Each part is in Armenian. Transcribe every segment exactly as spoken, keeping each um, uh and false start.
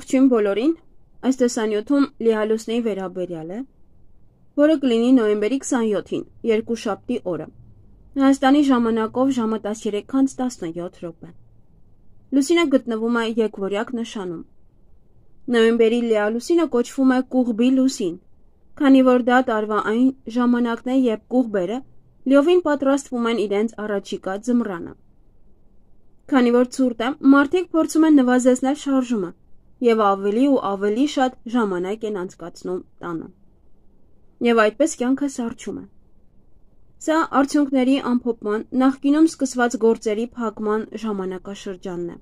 Ողջույն բոլորին, այս տեսանյութում լիալուսնեի վերաբերյալ է, որը կլինի նոյեմբերի քսանյոթին, երկուշաբթի օրը, Հայաստանի ժամանակով ժամը տասներեք քանց տասնյոթ րոպե։ Լուսինը գտնվում է եկվորյակ նշանում։ Նոյեմբերի լիալուսինը կոչվում է կուղբի լուսին, քանի որ դա տարվա այն ժամանակն է, երբ կուղբերը լիովին պատրաստվում են իրենց առաջիկա ձմռանը։ Քանի որ ցուրտ է, մարդիկ փորձում են նվազեցնել շարժումը եւ ավելի ու ավելի շատ ժամանակ են անցկացնում տանը։ Եվ այդպես կյանքը սառչում է։ Սա արդյունքների ամփոփման, նախկինում սկսված գործերի փակման ժամանակաշրջանն է։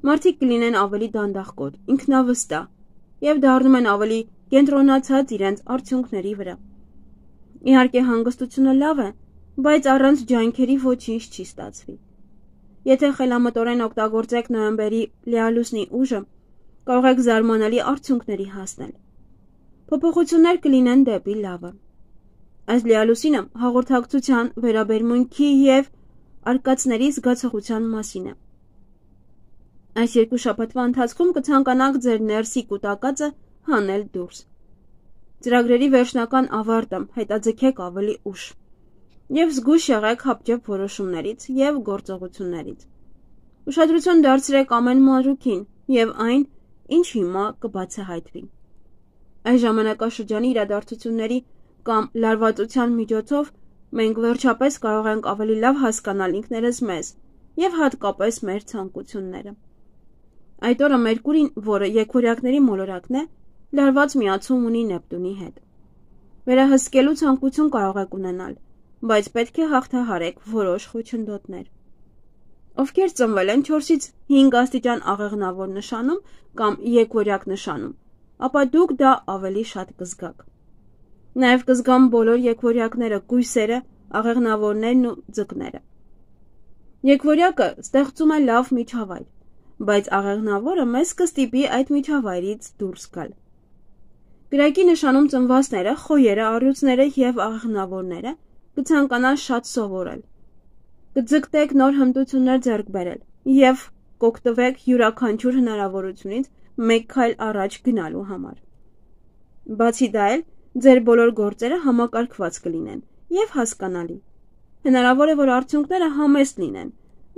Մարդիկ կլինեն ավելի դանդաղկոտ, ինքնավստահ եւ դառնում են ավելի կենտրոնացած իրենց արդյունքների վրա։ Իհարկե հանգստությունը լավ է, բայց առանց ջանքերի ոչինչ չի ստացվի։ Եթե խելամտորեն օգտագործեք նոյեմբերի լիալուսնի ուժը, կարող եք զարմանալի արդյունքների հասնել։ Փոփոխություններ կլինեն դեպի լավը։ Այս լիալուսինը հաղորդակցության, վերաբերմունքի եւ արկածների զգացողության մասին է։ Այս երկու շաբաթվա ընթացքում կցանկանաք ձեր ներսի կուտակածը հանել դուրս։ Ծրագրերի վերջնական ավարտը հետաձգեք ավելի ուշ եւ զգույշ եղեք հապճեպ որոշումներից եւ գործողություններից։ Ուշադրություն դարձրեք ամեն մանրուքին եւ այն, ինչ հիմա կբացահայտվի։ Այս ժամանակաշրջանի իրադարձությունների կամ լարվածության միջոցով մենք վերջապես կարող ենք ավելի լավ հասկանալ ինքներս մեզ եւ հատկապես մեր ցանկությունները։ Այդ օրը Մերկուրին, որը եկվորյակների մոլորակն է, լարված միացում ունի Նեպտունի հետ։ Վերահսկելու ցանկություն կարող եք ունենալ, բայց պետք է հաղթահարեք որոշ խոչընդոտներ։ Ովքեր ծնվել են չորսից հինգ աստիճան աղեղնավոր նշանում կամ եկվորյակ նշանում, ապա դուք դա ավելի շատ կզգաք։ Նաև կզգան բոլոր եկվորյակները, կույսերը, աղեղնավորներն ու ձկները։ Եկվորյակը ստեղծում է լավ միջավայր, բայց աղեղնավորը մեզ կստիպի այդ միջավայրից դուրս գալ։ Կրակի նշանում ծնվածները, խոյերը, առյուծները եւ աղեղնավորները կցանկանան շատ սովորել։ Կձգտեք նոր հմտություններ ձեռք բերել եւ կօգտվեք յուրաքանչյուր հնարավորությունից մեկ քայլ առաջ գնալու համար։ Բացի դա էլ ձեր բոլոր գործերը համակարգված կլինեն եւ հասկանալի։ Հնարավոր է, որ արդյունքները համեստ լինեն,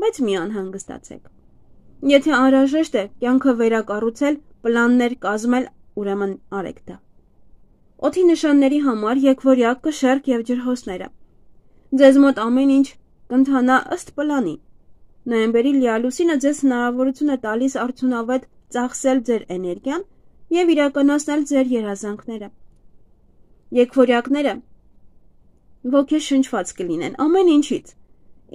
բայց մի անհանգստացեք։ Եթե անհրաժեշտ է կյանքը վերակառուցել, պլաններ կազմել, ուրեմն արեք դա։ Օդի նշանների համար եկվորյակ, կշեռք եւ ջրհոսները։ Ձեզ մոտ ամեն ինչ կընթանա ըստ պլանի։ Նոյեմբերի լիալուսինը ձեզ հնարավորություն է տալիս արդյունավետ ծախսել ձեր էներգիան եւ իրականացնել ձեր երազանքները։ Եկվորյակները ոգեշնչված կլինեն ամեն ինչից,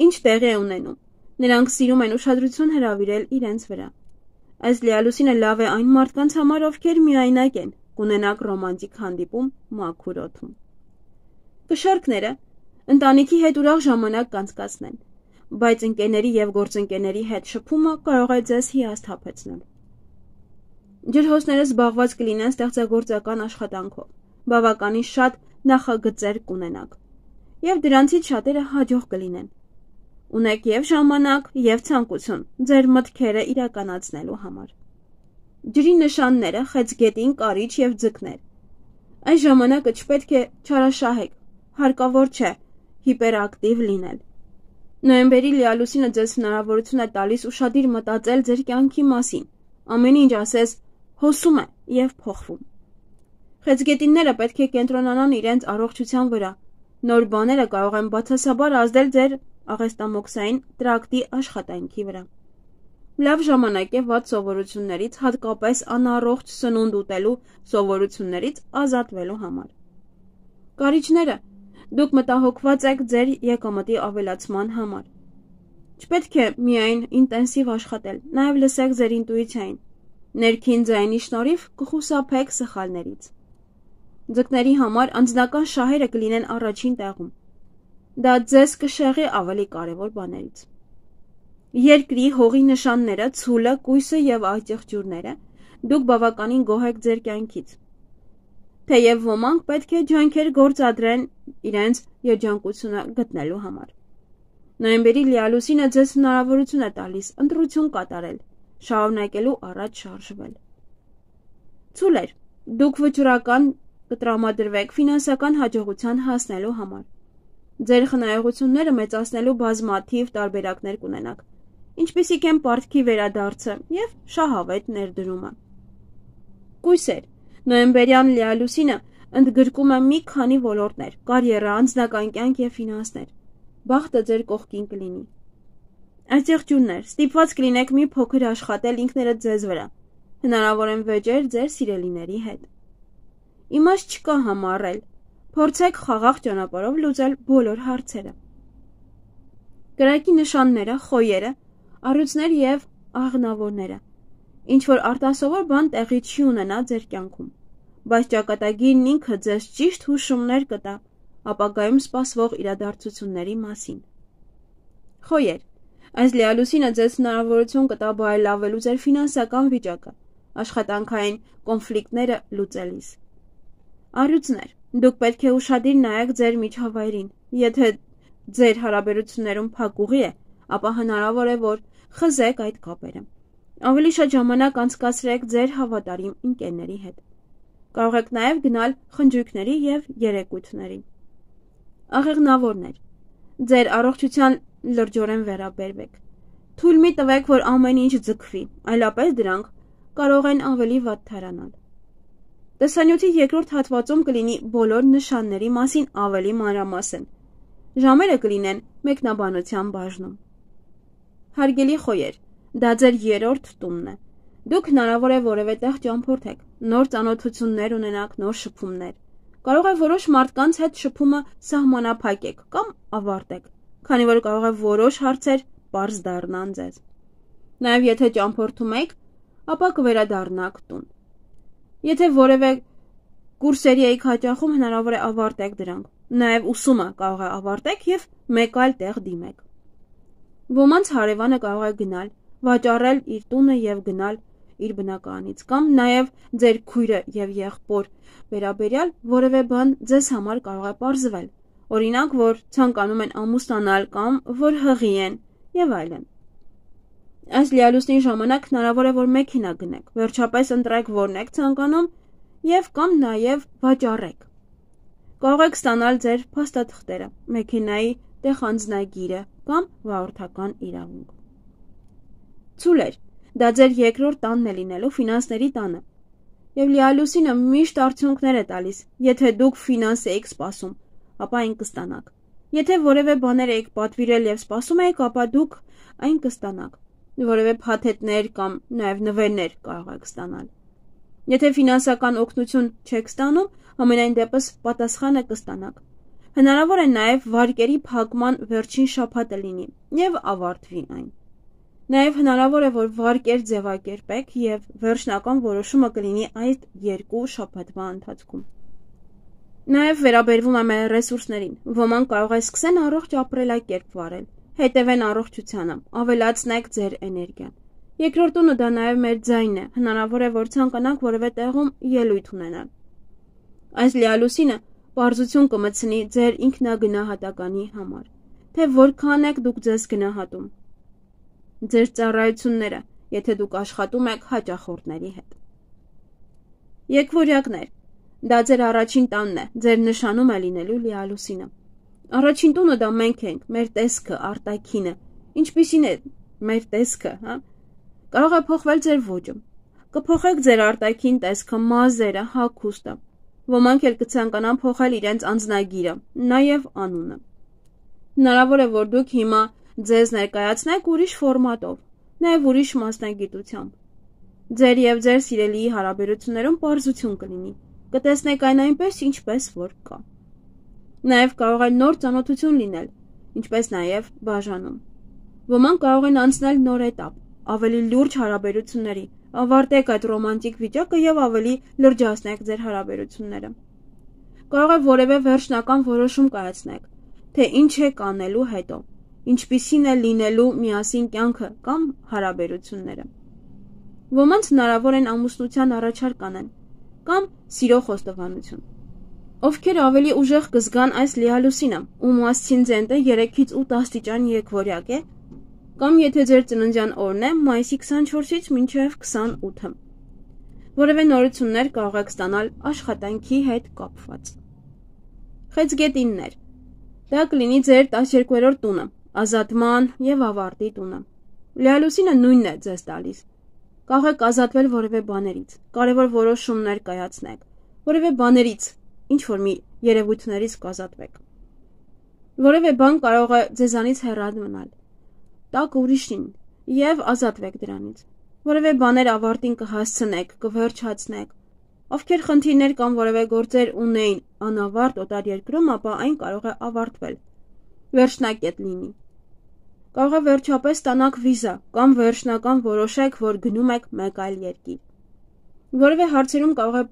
ինչ տեղի է ունենում։ Նրանք սիրում են ուշադրություն հրավիրել իրենց վրա։ Այս լիալուսինը լավ է այն մարդկանց համար, ովքեր միայնակ են, կունենաք ռոմանտիկ հանդիպում մաքուր օդում։ Կշեռքները ընտանիքի հետ ուրախ ժամանակ կանցկացնեն, բայց ընկերների եւ գործընկերների հետ շփումը կարող է ձեզ հիասթափեցնել։ Ջրհոսները զբաղված կլինեն ստեղծագործական աշխատանքով, բավականին շատ նախագծեր կունենաք, եւ դրանցից շատերը հաջող կլինեն։ Ունեք եւ ժամանակ, եւ ցանկություն ձեր մտքերը իրականացնելու համար։ Ջրի նշանները խեցգետին, կարիճ եւ ձկներ։ Այս ժամանակը չպետք է չարաշահեք, հարկավոր չէ հիպերակտիվ լինել։ Նոյեմբերի լիալուսինը ձեզ հնարավորություն է տալիս ուշադիր մտածել ձեր կյանքի մասին, ամեն ինչ ասես հոսում է եւ փոխվում։ Խեցգետինները պետք է կենտրոնանան իրենց առողջության վրա։ Նոր բաները կարող են բացասաբար ազդել ձեր աղեստամոքսային տրակտի աշխատանքի վրա։ Լավ ժամանակ է վատ սովորություններից, հատկապես անառողջ սնունդ ուտելու սովորություններից ազատվելու համար։ Կարիճները դուք մտահոգված եք ձեր եկամտի ավելացման համար։ Չպետք է միայն ինտենսիվ աշխատել, նաև լսեք ձեր ինտուիցիային։ Ներքին ձայնի շնորհիվ կխուսափեք սխալներից։ Ձկների համար անձնական շահերը կլինեն առաջին տեղում։ Դա ձեզ կշեղի ավելի կարևոր բաներից։ Երկրի, հողի նշանները, ցուլը, կույսը եւ այծեղջյուրները դուք բավականին գոհ եք ձեր կյանքից։ Թեև ոմանք պետք է ջանքեր գործադրեն իրենց երջանկությունը գտնելու համար։ Նոյեմբերի լիալուսինը ձեզ հնարավորություն է տալիս ընտրություն կատարել, շարունակելու առաջ շարժվել։ Ցույց էր, դուք վճռական կտրամադրվեք ֆինանսական հաջողության հասնելու համար։ Ձեր խնայողությունները մեծացնելու բազմաթիվ տարբերակներ կունենաք, ինչպիսիք են պարտքի վերադարձը և շահավետ ներդրումը։ Կույսեր, նոյեմբերյան լիալուսինը ընդգրկում է մի քանի ոլորտներ՝ կարիերա, անձնական կյանք և ֆինանսներ։ Բախտը ձեր կողքին կլինի։ Աջեղջյուններ, ստիպված կլինեք մի փոքր աշխատել ինքներդ ձեզ վրա, հնարավոր են վեճեր ձեր սիրելիների հետ։ Իմաստ չկա համառել, փորձեք խաղաղ ճանապարհով լուծել բոլոր հարցերը։ Կրակի նշանները, խոյերը, առյուծներ և աղնավորները։ Ինչ-որ արտասովոր բան տեղի չի ունենա ձեր կյանքում, բայց ճակատագիրն ինքը ձեզ ճիշտ հուշումներ կտա ապագայում սպասվող իրադարձությունների մասին։ Խոյեր, այս լիալուսինը ձեզ հնարավորություն կտա բարելավելու ձեր ֆինանսական վիճակը, աշխատանքային կոնֆլիկտները լուծելիս։ Առյուծներ, դուք պետք է ուշադիր նայեք ձեր միջավայրին, եթե ձեր հարաբերություններում փակուղի է, ապա հնարավոր է, որ խզեք այդ կապերը։ Ավելի շատ ժամանակ անցկացրեք ձեր հավատարիմ ընկերների հետ։ Կարող եք նաև գնալ խնջույքների և երեկույթների։ Աղեղնավորներ, ձեր առողջության լրջորեն վերաբերվեք։ Թույլ մի տվեք, որ ամեն ինչ ձգվի, այլապես դրանք կարող են ավելի վատ թարանալ։ Տեսանյութի երկրորդ հատվածում կլինի բոլոր նշանների մասին ավելի մանրամասն։ Ժամերը կլինեն մեկնաբանության բաժնում։ Հարգելի խոյեր, դա ձեր երրորդ տունն է։ Դուք հնարավոր է որևէ տեղ ճամփորդեք, նոր ծանոթություններ ունենաք, նոր շփումներ։ Կարող է որոշ մարդկանց հետ շփումը սահմանափակեք կամ ավարտեք, քանի որ կարող է որոշ հարցեր պարզ դառնան ձեզ։ Նաև եթե ճամփորդում եք, ապա կվերադառնաք տուն։ Եթե որևէ կուրսերի եք հաճախում, հնարավոր է ավարտեք դրանք։ Նաև ուսումը կարող է ավարտեք և մեկ այլ տեղ դիմեք։ Ոմանց հարևանը կարող է գնալ, վաճառել իր տունը և գնալ իր բնակարանից, կամ նաև ձեր քույրը և եղբոր վերաբերյալ որևէ բան ձեզ համար կարող է պարզվել, օրինակ, որ ցանկանում են ամուսնանալ կամ որ հղի են և այլն։ Այս լիալուսնի ժամանակ հնարավոր է, որ մեքենա գնեք, վերջապես ընտրեք որն եք ցանկանում և կամ նաև վաճառեք։ Կարող եք ստանալ ձեր փաստաթղթերը, մեքենայի տեղանձնագիրը կամ վարորդական իրավունք։ Ցույց, դա ձեր երկրորդ տանն է լինելու, ֆինանսների տանը, և լիալուսինը միշտ արդյունքներ է տալիս, եթե դուք ֆինանս եք սպասում, ապա այն կստանաք։ Եթե որևէ բաներ եք պատվիրել և սպասում եք, ապա դուք այն կստանաք։ Որևէ փաթեթներ կամ նաև նվերներ կարող եք ստանալ։ Եթե ֆինանսական օգնություն չեք ստանում, համենայն դեպս պատասխանը կստանաք։ Հնարավոր է նաև վարկերի փակման վերջին շաբաթը լինի և ավարտվի այն։ Նաև հնարավոր է, որ վարկեր ձևակերպեք և վերջնական որոշումը կլինի այդ երկու շաբաթվա ընթացքում։ Նաև վերաբերվում է մեր ռեսուրսներին։ Ոմանք կարող է սկսեն առողջ ապրելակերպ վարել, հետևեն առողջությանը, ավելացնեք ձեր էներգիան։ Երկրորդ տունը դա նաև մեր ձայնն է, հնարավոր է, որ ցանկանաք որևէ տեղում ելույթ ունենալ։ Այս լիալուսինը պարզություն կմտցնի ձեր ինքնագնահատականի համար, թե որքան եք դուք ձեզ գնահատում։ Ձեր ծառայությունները, եթե դուք աշխատում եք հաճախորդների հետ։ Եկվորյակներ, դա ձեր առաջին տանն է, ձեր նշանում է լինելու լիալուսինը։ Առաջին տունը դա մենք ենք, մեր տեսքը, արտաքինը, ինչպիսին է մեր տեսքը, հա։ Կարող է փոխվել ձեր ոճը։ Կփոխեք ձեր արտաքին տեսքը, մազերը, հագուստը։ Ոմանք էլ կցանկանան փոխել իրենց անձնագիրը, նաև անունը։ Հնարավոր է, որ դուք հիմա ձեզ ներկայացնեք ուրիշ ֆորմատով, նաև ուրիշ մասնագիտությամբ։ Ձեր և ձեր սիրելիի հարաբերություններում պարզություն կլինի, կտեսնեք այն այնպես, ինչպես որ կա։ Նաև կարող է նոր ծանոթություն լինել, ինչպես նաև բաժանում։ Ոմանք կարող են անցնել նոր էտապ, ավելի լուրջ հարաբերությունների, ավարտեք այդ ռոմանտիկ վիճակը և ավելի լրջացնեք ձեր հարաբերությունները։ Կարող է որևէ վերջնական որոշում կայացնեք, թե ինչ եք անելու հետո, ինչպիսին է լինելու միասին կյանքը կամ հարաբերությունները։ Ոմանց հնարավոր են ամուսնության առաջարկ անեն կամ սիրո խոստովանություն։ Ովքեր ավելի ուժեղ կզգան այս լիալուսինը, ում ասցենդենտը երեքից ութ աստիճան եկվորյակ է, կամ եթե ձեր ծննդյան օրն է մայիսի քսանչորսից մինչև քսանութը։ որևէ նորություններ կարող եք ստանալ աշխատանքի հետ կապված։ Խեցգետիններ։ Դա կլինի ձեր տասներկուերորդ տունը, ազատման եւ ավարտի տունը։ Լիալուսինը նույնն է ձեզ տալիս։ Կարող եք ազատվել որևէ բաներից, կարևոր որոշումներ կայացնեք, որևէ բաներից, ինչ որ մի երևույթներից կազատվեք։ Որևէ բան կարող է ձեզանից հեռու մնալ։ Տակ ուրիշին եւ ազատվեք դրանից։ Որևէ բաներ ավարտին կհասցնեք, կվերջացնեք։ Ովքեր խնդիրներ կամ որևէ գործեր ունեին անավարտ օտար երկրում, ապա այն կարող է ավարտվել։ Վերջնակետ լինի։ Կարող է վերջապես ստանաք վիզա կամ վերջնական որոշեք, որ գնում եք մեկ այլ երկիր։ Որևէ հարցերում կարող է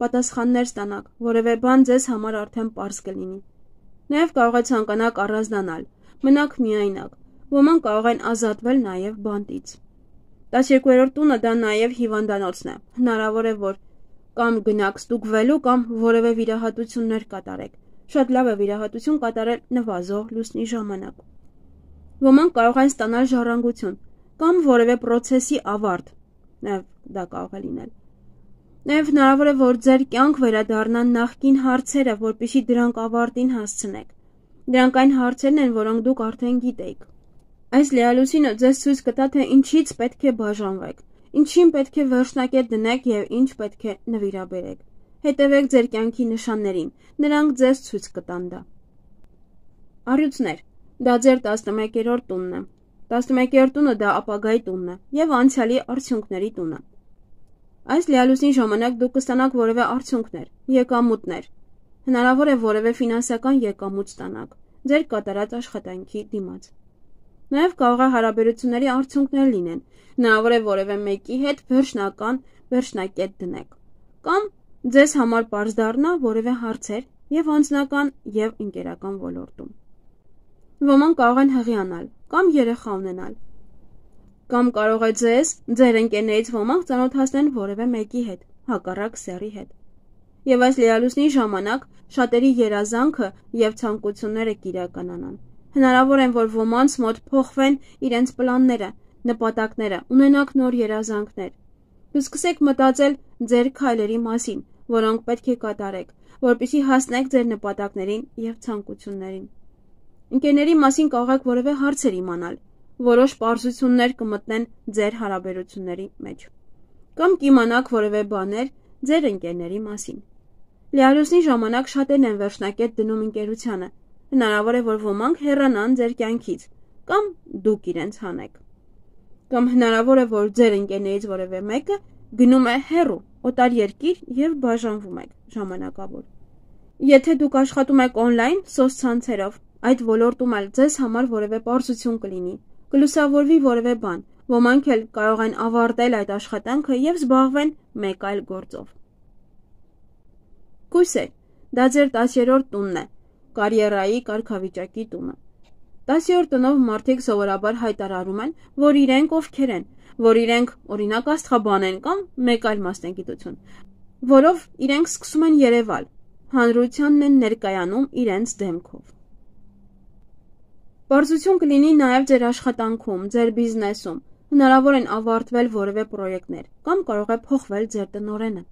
պատասխաններ ստանաք, որևէ բան ձեզ համար արդեն պարզ կլինի։ Նաև կարող է ցանկանաք առանձնանալ, մնաք միայնակ, ոմանք կարող են ազատվել նաև բանտից։ տասներկուերորդ տունը դա նաև հիվանդանոցն է, հնարավոր է, որ կամ գնաք ստուգվելու կամ որևէ վիրահատություններ կատարեք, շատ լավ է վիրահատություն կատարել նվազող լուսնի ժամանակ։ Ոմանք կարող են ստանալ ժառանգություն կամ որևէ պրոցեսի ավարտ, նաև դա կարող է լինել։ Նաև հնարավոր է, որ ձեր կյանք վերադառնան նախկին հարցերը, որպեսզի դրանք ավարտին հասցնեք։ Դրանք այն հարցերն են, որոնք դուք արդեն գիտեիք։ Այս լիալուսինը ձեզ ցույց կտա, թե ինչից պետք է բաժանվեք, ինչին պետք է վերջնակետ դնեք եւ ինչ պետք է նվիրաբերեք։ Հետևեք ձեր կյանքի նշաններին, նրանք ձեզ ցույց կտան դա։ Առյուծներ։ Դա ձեր տասնմեկերորդ տունն է։ տասնմեկերորդ տունը դա ապագայի տունն է եւ անցյալի արդյունքների տունը։ Այս լիալուսին ժամանակ դուք կստանաք որևէ արդյունքներ, եկամուտներ։ Հնարավոր է որևէ ֆինանսական եկամուտ ստանաք ձեր կատարած աշխատանքի դիմաց։ Նաև կարող է հարաբերությունների արդյունքներ լինեն, հնարավոր է որևէ մեկի հետ վերջնական վերջնակետ դնեք, կամ ձեզ համար պարզ դառնա որևէ հարցեր եւ անձնական եւ ընկերական ոլորտում։ Ոմանք կարող են հղիանալ կամ երեխա ունենալ, կամ կարող է ձեզ, ձեր ընկերներից ոմանք ծանոթացնեն որևէ մեկի հետ, հակառակ սեռի հետ։ Եվ այս լիալուսնի ժամանակ շատերի երազանքը եւ ցանկությունները կիրականանան։ Հնարավոր է, որ ոմանց մոտ փոխվեն իրենց պլանները, նպատակները, ունենաք նոր երազանքներ։ Կսկսեք մտածել ձեր քայլերի մասին, որոնք պետք է կատարեք, որպեսզի հասնեք ձեր նպատակներին եւ ցանկություններին։ Ընկերների մասին կարող եք որևէ հարցեր իմանալ, որոշ պարզություններ կմտնեն ձեր հարաբերությունների մեջ, կամ կիմանաք որևէ բաներ ձեր ընկերների մասին։ Լիալուսնի ժամանակ շատերն են վերջնակետ դնում ընկերությանը։ Հնարավոր է, որ ոմանք հեռանան ձեր կյանքից, կամ դուք իրենց հանեք։ Կամ հնարավոր է, որ ձեր ընկերներից որևէ մեկը գնում է հեռու, օտար երկիր եւ բաժանվում եք ժամանակավոր։ Եթե դուք աշխատում եք on-line սոցցանցերով, այդ ոլորտում էլ ձեզ համար որևէ պարզություն կլինի, կլուսավորվի որևէ բան, ոմանք էլ կարող են ավարտել այդ աշխատանքը եւ զբաղվեն մեկ այլ գործով։ Կույսեր, դա ձեր տասներորդ տունն է, կարիերայի կարգավիճակի տունը։ տասներորդ տնով մարդիկ սովորաբար հայտարարում են, որ իրենք ովքեր են, որ իրենք օրինակ աստղաբան են կամ մեկ այլ մասնագիտություն, որով իրենք սկսում են երևալ, հանրությանն են ներկայանում իրենց դեմքով։ Պարզություն կլինի նաև ձեր աշխատանքում, ձեր բիզնեսում, հնարավոր են ավարտվել որևէ պրոյեկտներ կամ կարող է փոխվել ձեր տնօրենը։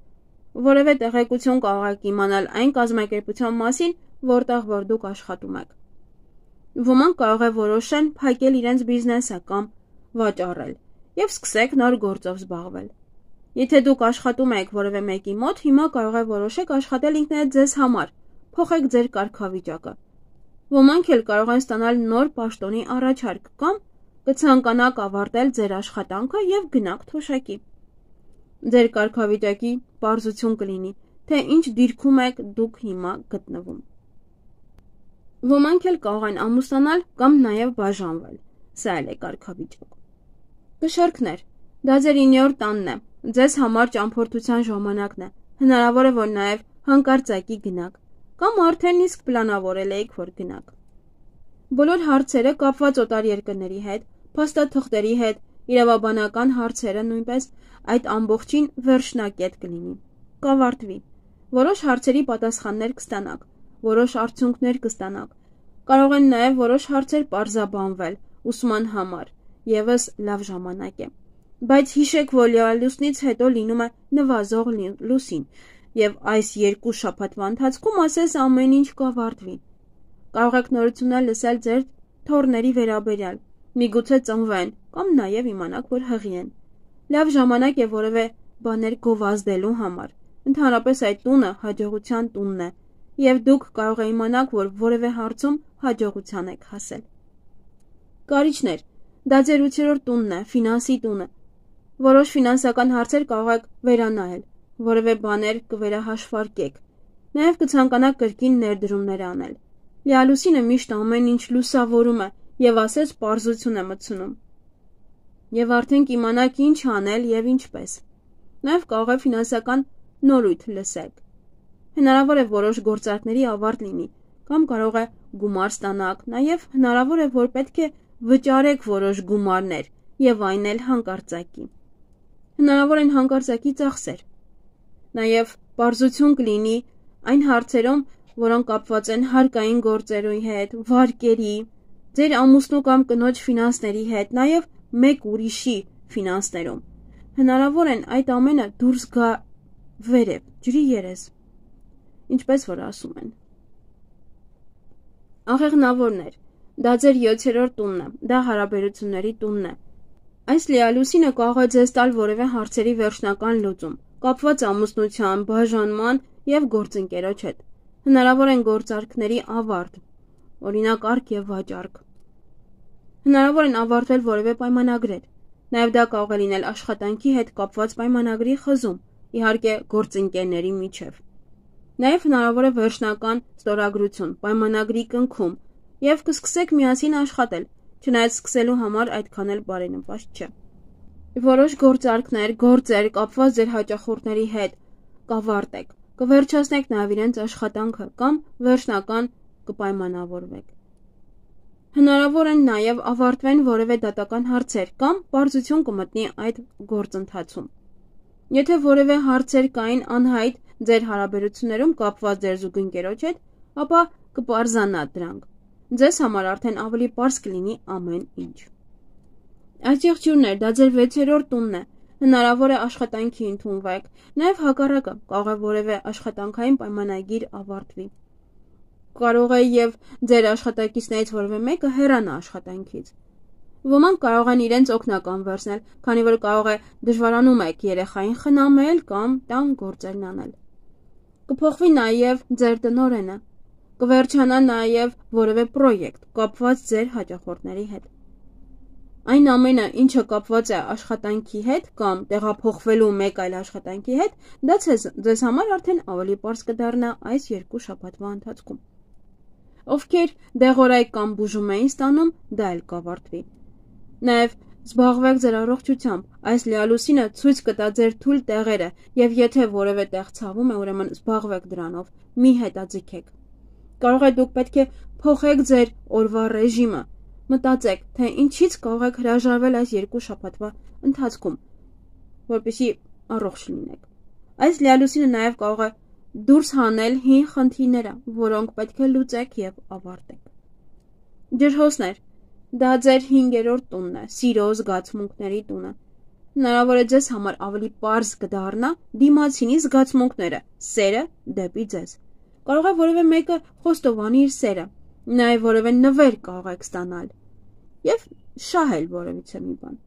Որևէ տեղեկություն կարող եք իմանալ այն կազմակերպության մասին, որտեղ որ դուք աշխատում եք։ Ոմանք կարող է որոշեն փակել իրենց բիզնեսը կամ վաճառել եւ սկսեք նոր գործով զբաղվել։ Եթե դուք աշխատում եք որևէ մեկի մոտ, հիմա կարող է որոշեք աշխատել ինքներդ ձեզ համար, փոխեք ձեր կարգավիճակը։ Ոմանք էլ կարող են ստանալ նոր պաշտոնի առաջարկ կամ կցանկանաք ավարտել ձեր աշխատանքը եւ գնաք թոշակի։ Ձեր կարգավիճակի պարզություն կլինի, թե ինչ դիրքում եք դուք հիմա գտնվում։ Ոմանք էլ կարող են ամուսնանալ կամ նաև բաժանվել։ Սա էլ է կարգավիճակ։ Կշեռքներ, դա ձեր իններորդ տանն է, ձեզ համար ճամփորդության ժամանակն է։ Հնարավոր է, որ նաև հանկարծակի գնաք, կամ արդեն իսկ պլանավորել եք, որ գնաք։ Բոլոր հարցերը կապված օտար երկրների հետ, փաստաթղթերի հետ, իրավաբանական հարցերը նույնպես այդ ամբողջին վերջնակետ կլինի, կավարտվի։ Որոշ հարցերի պատասխաններ կստանաք, որոշ արդյունքներ կստանաք։ Կարող են նաև որոշ հարցեր պարզաբանվել ուսման համար, եւս լավ ժամանակ է։ Բայց հիշեք, որ լիալուսնից հետո լինում է նվազող լուսին, եւ այս երկու շաբաթվա ընթացքում ասես ամեն ինչ կավարտվի։ Կարող եք նորություններ լսել ձեր թոռների վերաբերյալ, միգուցե ծնվեն, կամ նաեւ իմանաք, որ հղի են։ Լավ ժամանակ է որևէ բաներ գովազդելու համար։ Ընդհանրապես այդ տունը հաջողության տունն է, եւ դուք կարող եք իմանաք, որ որևէ հարցում հաջողության եք հասել։ Կարիճներ, դա ձեր ութերորդ տունն է, ֆինանսի տունը։ Որոշ ֆինանսական հարցեր կարող եք վերանայել, որևէ բաներ կվերահաշվարկեք, նաև կցանկանաք կրկին ներդրումներ անել։ Լիալուսինը միշտ ամեն ինչ լուսավորում է եւ ասես պարզություն է մտցնում։ Եվ արդեն կիմանաք ինչ անել եւ ինչպես։ Նաև կարող է ֆինանսական նորույթ լսեք։ Հնարավոր է որոշ գործարքների ավարտ լինի, կամ կարող է գումար ստանաք, նաև հնարավոր է, որ պետք է վճարեք որոշ գումարներ եւ այն էլ հանկարծակի։ Հնարավոր են հանկարծակի ծախսեր։ Նաև պարզություն կլինի այն հարցերում, որոնք կապված են հարկային գործերի հետ, վարկերի, ձեր ամուսնու կամ կնոջ ֆինանսների հետ, նաև մեկ ուրիշի ֆինանսներում։ Հնարավոր են այդ ամենը դուրս գա վերև, ջրի երես, ինչպես որ ասում են։ Աղեղնավորներ, դա ձեր յոթերորդ տունն է, դա հարաբերությունների տունն է։ Այս լիալուսինը կարող է ձեզ տալ որևէ հարցերի վերջնական լուծում, կապված ամուսնության, բաժանման եւ գործընկերոջ հետ։ Հնարավոր են գործարքների ավարտ, օրինակ արք եւ վաճառք։ Հնարավոր են ավարտվել որևէ պայմանագրեր։ Նաեւ դա կարող է լինել աշխատանքի հետ կապված պայմանագրի խզում, իհարկե գործընկերների միջև։ Նաեւ հնարավոր է վերջնական ստորագրություն, պայմանագրի կնքում եւ կսկսեք միասին աշխատել, չնայած սկսելու համար այդքան էլ բարենպաստ չէ։ Որոշ գործարքներ, գործեր կապված ձեր հաճախորդների հետ կավարտեք, կվերջացնեք նաեւ իրենց աշխատանքը կամ վերջնական կպայմանավորվեք։ Հնարավոր են նաեւ ավարտվեն որևէ դատական հարցեր կամ պարզություն կմտնի այդ գործընթացում։ Եթե որևէ հարցեր կային անհայտ ձեր հարաբերություններում կապված ձեր զուգընկերոջ հետ, ապա կպարզանա դրանք։ Ձեզ համար արդեն ավելի պարզ կլինի ամեն ինչ։ Այս եղջյուրներ, դա ձեր վեցերորդ տունն է, հնարավոր է աշխատանքի ընդունվեք, նաև հակառակը կարող է որևէ աշխատանքային պայմանագիր ավարտվի։ Կարող է եւ ձեր աշխատակիցներից որևէ մեկը հեռանա աշխատանքից։ Ոմանք կարող են իրենց օգնական վերցնել, քանի որ կարող է դժվարանում եք երեխային խնամել կամ տան գործերն անել։ Կփոխվի նաեւ ձեր տնօրենը, կվերջանա նաեւ որևէ պրոյեկտ կապված ձեր հաճախորդների հետ։ Այն ամենը, ինչը կապված է աշխատանքի հետ կամ տեղափոխվելու մեկ այլ աշխատանքի հետ, դա ձեզ համար արդեն ավելի պարզ կդառնա այս երկու շաբաթվա ընթացքում։ Ովքեր դեղորայք կամ բուժում էին ստանում, դա էլ կավարտվի։ Նաև զբաղվեք ձեր առողջությամբ, այս լիալուսինը ցույց կտա ձեր թույլ տեղերը, եւ եթե որևէ տեղ ցավում է, ուրեմն զբաղվեք դրանով, մի հետաձգեք։ Կարող է դուք պետք է փոխեք ձեր օրվա ռեժիմը, մտածեք, թե ինչից կարող եք հրաժարվել այս երկու շաբաթվա ընթացքում, որպեսզի առողջ լինեք։ Այս լիալուսինը նաև կարող է դուրս հանել հին խնդիրները, որոնք պետք է լուծեք եւ ավարտեք։ Ջրհոսներ, դա ձեր հինգերորդ տունն է, սիրո զգացմունքների տունը։ Հնարավոր է ձեզ համար ավելի պարզ կդառնա դիմացինի զգացմունքները, սերը դեպի ձեզ։ Կարող է որևէ մեկը խոստովանի իր սերը, նաև որևէ նվեր կարող եք ստանալ եւ շահել որևիցե մի բան։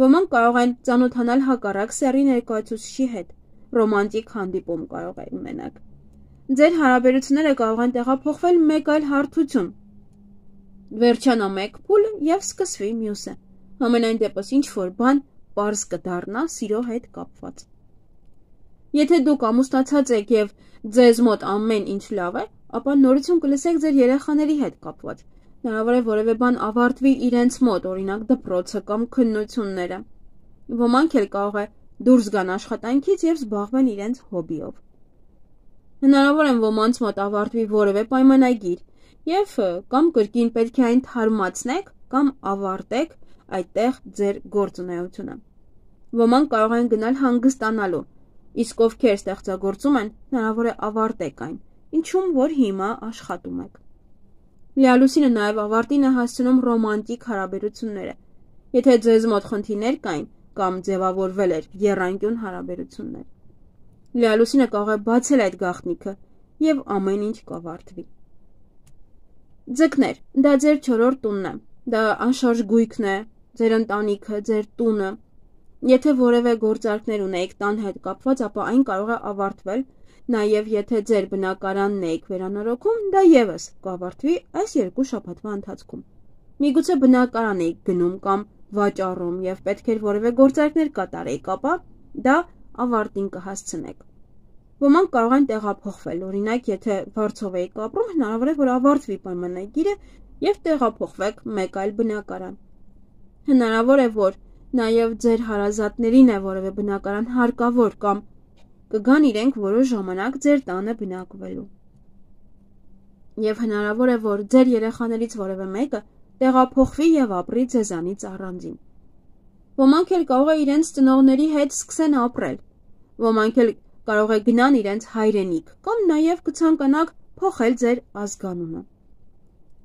Ոմանք կարող են ծանոթանալ հակառակ սեռի ներկայացուցիչի հետ, ռոմանտիկ հանդիպում կարող է ունենաք։ Ձեր հարաբերությունները կարող են տեղափոխվել մեկ այլ հարթություն։ Վերջանա մեկ փուլ եւ սկսվի մյուսը։ Համենայն դեպս ինչ որ բան պարզ կդառնա սիրո հետ կապված։ Եթե դուք ամուսնացած եք եւ ձեզ մոտ ամեն ինչ լավ է, ապա նորություն կլսեք ձեր երեխաների հետ կապված։ Հնարավոր է որևէ բան ավարտվի իրենց մոտ, օրինակ դպրոցը կամ քննությունները։ Ոմանք էլ կարող է դուրս գան աշխատանքից եւ զբաղվեն իրենց հոբիով։ Հնարավոր է ոմանց մոտ ավարտվի որևէ պայմանագիր եւ կամ կրկին պետք է այն թարմացնեք կամ ավարտեք այդտեղ ձեր գործունեությունը։ Ոմանք կարող են գնալ հանգստանալու, իսկ ովքեր ստեղծագործում են, հնարավոր է ավարտեք այն, ինչում որ հիմա աշխատում եք։ Լիալուսինը նաև ավարտին է հասցնում ռոմանտիկ հարաբերությունները։ Եթե ձեզ մոտ խնդիրներ կային, կամ ձևավորվել էր եռանկյուն հարաբերություններ։ Լիալուսինը կարող է բացել այդ գաղտնիքը եւ ամեն ինչ կավարտվի։ Ձկներ, դա ձեր չորրորդ տունն է, դա անշարժ գույքն է, ձեր ընտանիքը, ձեր տունը։ Եթե որևէ գործարքներ ունեիք տան հետ կապված, ապա այն կարող է ավարտվել, նաև եթե ձեր բնակարանն եք վերանորոգում, դա եւս կավարտվի այս երկու շաբաթվա ընթացքում։ Միգուցե բնակարան եք գնում կամ վաճառում եւ պետք էր որևէ գործարքներ կատարեիք, ապա դա ավարտին կհասցնեք։ Ոմանք կարող են տեղափոխվել, օրինակ, եթե Վարշավայում եք ապրում, հնարավոր է, որ ավարտվի պայմանագիրը եւ տեղափոխվեք մեկ այլ բնակարան։ Հնարավոր է, որ նաև ձեր հարազատներին է որևէ բնակարան հարկավոր կամ կգան իրենք որոշ ժամանակ ձեր տանը բնակվելու։ Եվ հնարավոր է, որ ձեր երեխաներից որևէ մեկը տեղափոխվի եւ ապրի ձեզանից առանձին։ Ոմանք էլ կարող է իրենց ծնողների հետ սկսեն ապրել։ Ոմանք էլ կարող է գնան իրենց հայրենիք կամ նաև կցանկանաք փոխել ձեր ազգանունը։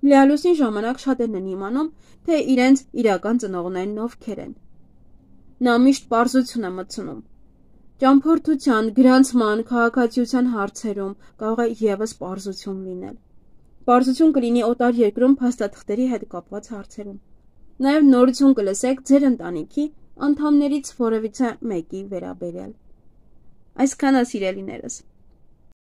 Լիալուսին ժամանակ շատերն են իմանում, թե իրենց իրական ծնողներն ովքեր են։ Նա միշտ պարզություն է մտցնում։ Ճամփորդության, գրանցման, քաղաքացիության հարցերում կարող է եւս պարզություն լինել։ Պարզություն կլինի օտար երկրում փաստաթղթերի հետ կապված հարցերում։ Նաև նորություն կլսեք ձեր ընտանիքի անդամներից որևիցե մեկի վերաբերյալ։ Այսքանը, սիրելիներս։